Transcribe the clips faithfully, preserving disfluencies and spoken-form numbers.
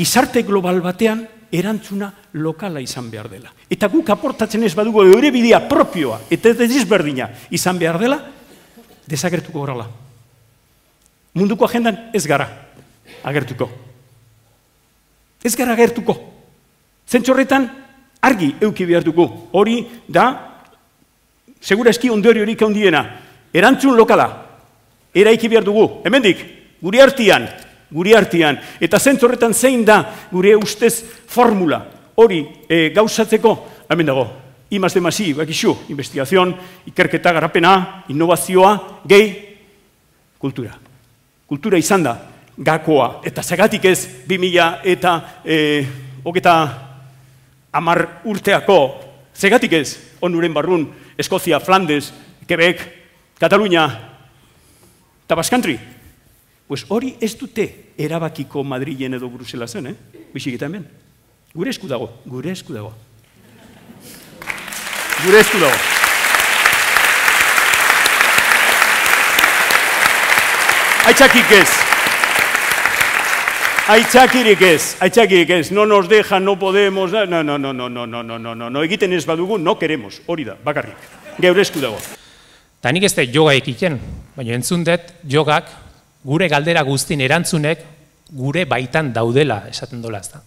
gizarte global batean erantzuna lokala izan behar dela. Eta guk aportatzen ez badugu eure bidea propioa, eta ez desberdina izan behar dela, desagertuko gorala. Munduko agendan ez gara agertuko. Ez gara agertuko. Zentzorretan argi euki behar dugu. Hori da, segura eski ondori horik handiena, erantzun lokala, eraiki behar dugu. Hemendik, guri artian, guri artian. Eta zentzorretan zein da gure ustez formula hori e, gauzatzeko, hemen dago, I más D más I, bakizu, investigazion, ikerketa, garapena, innovazioa, gehi, kultura. Kultura izan da, gakoa, eta zagatik ez, bi mila eta hogeta hamar urteako, zagatik ez, onuren barrun, Eskozia, Flandes, Quebec, Katalunia, eta Baskantri. Pues hori ez dute erabakiko Madrilen edo Bruselasen, eh? Bixik eta hemen. Gure esku dago, gure esku dago. Gure esku dago. Aitzakik ez. Aitzakirik ez, aitzakirik ez. No nos dejan, no podemos, no, no, no, no, no, no, no, no, no, no, egiten ez badugu, no queremos, hori da, bakarrik. Geure esku dago. Ta nik ez da yoga ekiten, baina entzun dut jogak gure galdera guztien erantzunek gure baitan daudela esaten dola, ezta.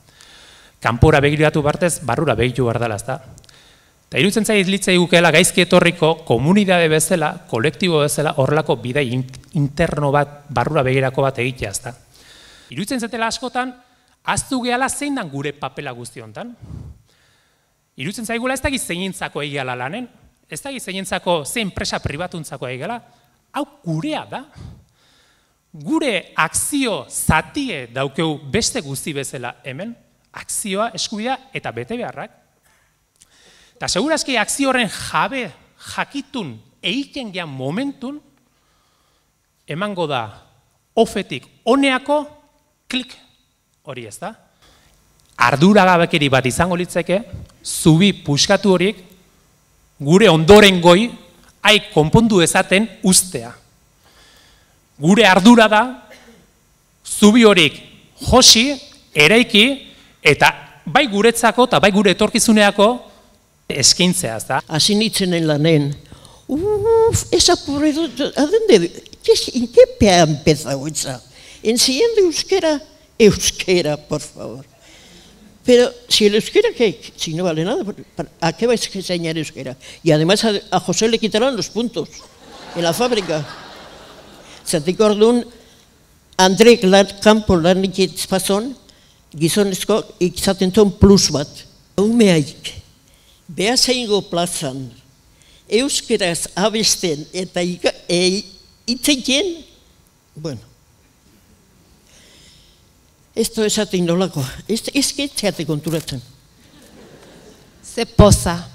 Kanpora begiratu bartez, barrura begitu behar dela, ezta. Eta irutzen zait litzai gukeela gaizki etorriko komunidade bezala, kolektibo bezala, horrelako bidai interno bat, barrura begirako bat egitea, ezta. Irutzen zetela askotan, aztu gehala zein dan gure papela guzti hontan. Irutzen zaigula ez da gizeinentzako egiala lanen, ez da gizeinentzako zein enpresa pribatuntzako egiala, hau gurea da. Gure akzio zatie daukeu beste guzti bezala hemen, akzioa, eskubidea eta bete beharrak. Eta segurazki akzio horren jabe, jakitun, egiten gehan momentun, emango da ofetik oneako klik hori, ez da? Arduragabekeri bat izango litzeke, zubi puskatu horiek, gure ondoren goi, hai konpondu ezaten ustea. Gure ardura da, zubi horiek josi, eraiki, eta bai guretzako eta bai gure etorkizuneako eskintzea, ez da? Así nitzenen lanen, uff, esa aburrido, ¿a dónde? ¿En qué pe ha empezado esa? Enseñando euskera, euskera, por favor. Pero si el euskera, ¿qué? Si no vale nada, ¿a qué vais a enseñar euskera? Y además a, a José le quitarán los puntos en la fábrica. Zatik orduan, Andrek lan, kanpo lan ikizpazon, gizonezko ikizaten zuen plus bat. Umeaik, behazaingo plazan, euskeraz abesten eta itzeiten, bueno, esto esaten nolako, ez ketzeate konturatzen. Ze poza.